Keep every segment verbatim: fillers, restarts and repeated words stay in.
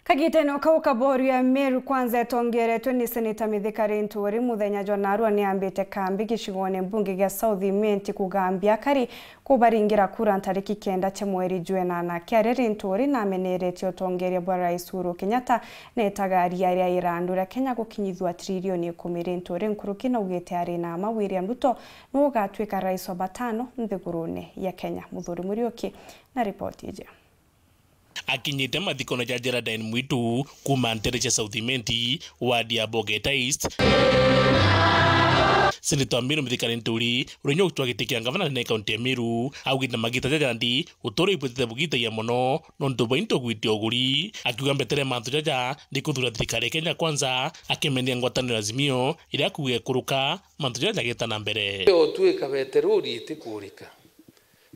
Kagitene o kau ka boru ya Meru Kwanza etongeretwe ni Seneta Mithika Linturi, muthenya jwa narua ni ambite kambi gicigone mbunge gia South Imenti kugambia akari kubaringira kura ntariki kenda cia mweri jwa enana. Kiaria Linturi nameneretie utongeria bwa Rais Uhuru Kenyatta na itagaria ria irandu ria Kenya gukinyithua trilioni ikumi. Linturi nkuruki naugite ari na mma William Ruto niwe ugatwika rais wa batano nthigurune ya Kenya. Muthuri Muriuki na ripoti iji. Akinyite mathikone ja Geraldine Mwitu kuuma ntere cia South Imenti, ward ya Bogeta East, Seneta wa Meru Mithika Linturi, uria unyokitwa giti kia ngavana nene kaunti ya Meru, augite magita jaja nthi utuuro ibwitite bugitagia mono nontu bwa into gwite uguri, akiuga mbetere mantu jaja ni kuthura thirikari ya Kenya Kwanza, akimenia ngwataniro ya Azimio iria akuuga ikuruka mantu jaja jageta na mbere. Yo twika beterori itikurika,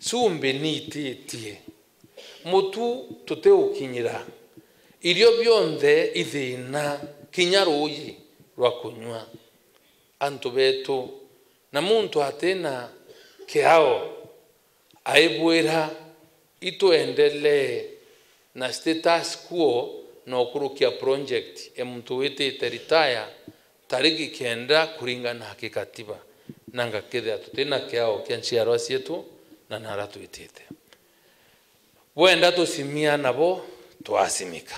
cumbi niititie, mutu tutiukinyira, irio bionthe ithina, kinya ruuji rwa kunyua. Antu betu, na muntu atina kiao, aibwira, itwendelee na status quo na ukurukia project ya muntu witite retire tariki kenda kuringana na gikatiba, na ngakethira tutina kiao kia nchiarwa cietu na nara twitite. Bwenda tucimia nabo, twacimika.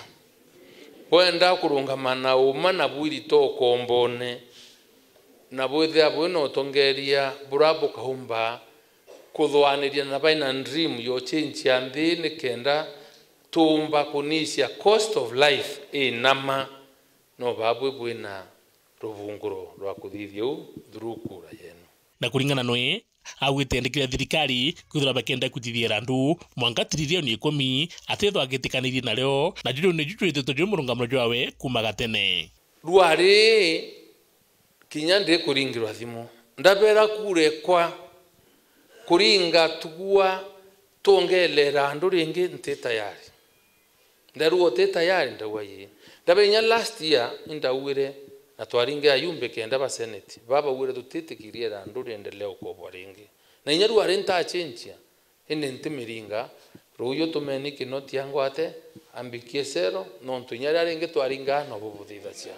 Bwenda kurungama na uma na bwirito ukombone, na bwithira bwina utongeria bura bukaumba kuthwaniria na baina dream yo change ya nthi nikenda tuumba kunisia cost of life inama, no babwi bwina rubunguro rwa kuthithia uu through kura yenu. Na kuringana nwe, augite endekire thirikari kwithirwa bakenda kwitithia irandu mwanka trilioni ikumi atethwa agitikanirie nario, na juju niju jwititwe jwi murungamiro jwawe kuuma gatene. Rwari kinya ndikuringirwa thimu, ndabera kura ekwa kuringa tugua twongele irandu ringi, nti tayari. Ndarua uti tayari, ndauga ii. Ndabe inya last year indauire na twaringe ayumbe kenda ba senate, babauire tutitikirie irandu riendelee ukobwa ringi. Na inya rwari ntachenjia, indi ntimiringa, ruuyu tumeni Kinoti angwate, ambikie cero, nontu inya riria ringi twaringaa nobu buthithagia.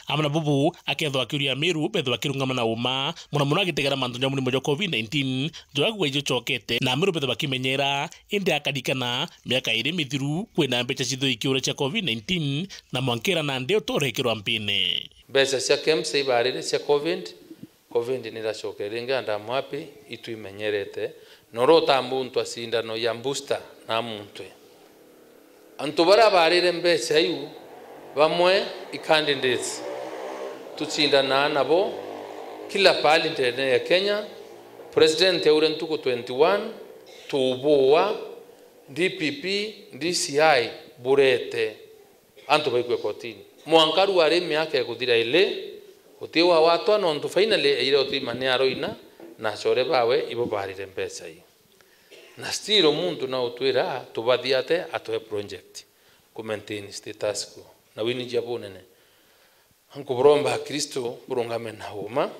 Amwe na bubu, akethwa akiuria Amiru bethwa bakirungama na uma, muno muno agitegera mantu ja murimo jwa covid nineteen, jwa kugwa ijo cokete, na Amiru bethwa bakimenyera, indi akarikana miaka iri mithiru kwina mbeca cithui kiura cia covid nineteen, na mwankira nandi uturekirwa mpine. Mbeca cia KEMSA ibarire cia covid, covid niracokere ringi, and I'm happy, itwimenyerete. Noro utambuntwa cindano ya booster na muntwe. Antu baria barire mbeca iu, bamwe i candidates tucindanaa nabo kila pahali ndene ya Kenya. President aure ntuku twenty-one, tuubua, D P P, D C I burete antu baikue kotini. Mwanka riu ari miaka ikuthira ili, uti wawatwa, nontu finally aire utima ni aroina, na acore bawe ibo barire mbeca ii. Na still muntu no utwira tubathia ate atwe project ku maintain status quo. Na wini jia bunene. Nkuburomba Akristo burungame na uma.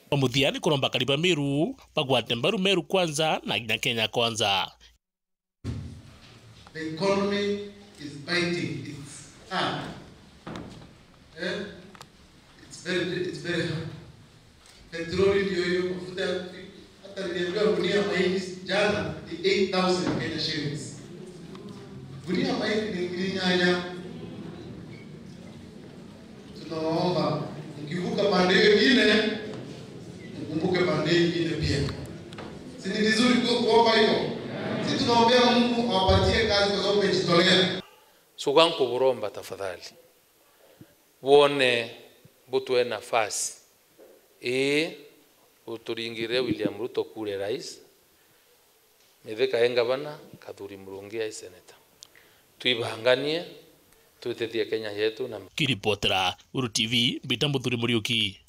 Kwa muthia ni kuromba akari ba Meru bagwate mbaru Meru Kwanza na kinya Kenya Kwanza. The economy is biting its hand. Eh? It's very, it's very hard. Petroli ndio hiyo, mafuta ya kupi-, hata niliambiwa gunia mahindi jana ni eight thousand Kenya shillings. Gunia mahindi ni ngiri nyanya. Tunawaomba, mkivuka pande hiyo ingine, mkumbuke pande hii ingine pia. Si ni vizuri ku-, kuomba hivyo? Si tunaombea Mungu awapatie kazi kwa sababu mmejitolea. Suga nkuburomba tafadhali. Bwone butwe nafasi ii, uturingire William Ruto kure rais, Mithika e ngavana, Kathuri Murungi ai seneta. Twibanganie, twitithie Kenya yetu na Kiripotera Uru T V, mbita Muthuri Muriuki.